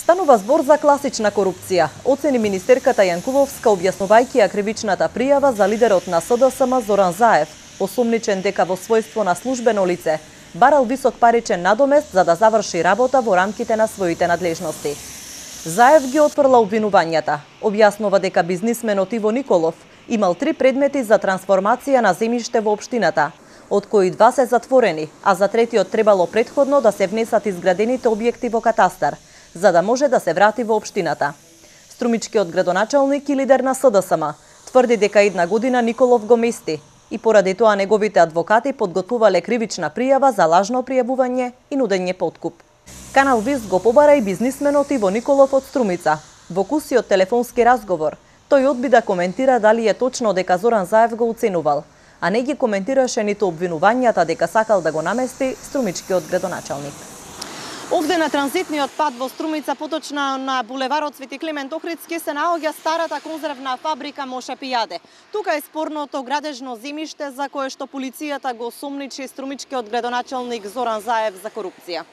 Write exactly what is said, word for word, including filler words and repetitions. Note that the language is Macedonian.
Станува збор за класична корупција, оцени министерката Јанкуловска објаснувајќи ја кривичната пријава за лидерот на СДСМ Зоран Заев, осумничен дека во својство на службено лице барал висок паричен надомест за да заврши работа во рамките на своите надлежности. Заев ги отфрла обвинувањата. Објаснува дека бизнисменот Иво Николов имал три предмети за трансформација на земјиште во општината, од кои два се затворени, а за третиот требало претходно да се внесат изградените објекти во катастар, за да може да се врати во општината. Струмичкиот градоначалник и лидер на СДСМ тврди дека една година Николов го мести и поради тоа неговите адвокати подготвувале кривична пријава за лажно пријавување и нудење подкуп. Канал Вист го побара и бизнисменот Иво Николов од Струмица. Во кусиот телефонски разговор, тој одби да коментира дали е точно дека Зоран Заев го уценувал, а не ги коментираше ниту обвинувањата дека сакал да го намести струмичкиот градоначалник. Овде на транзитниот пат во Струмица, поточно на булеварот Свети Климент Охридски, се наоѓа старата конзервна фабрика Моше Пијаде. Тука е спорното градежно земјиште за кое што полицијата го сомничи струмичкиот градоначалник Зоран Заев за корупција.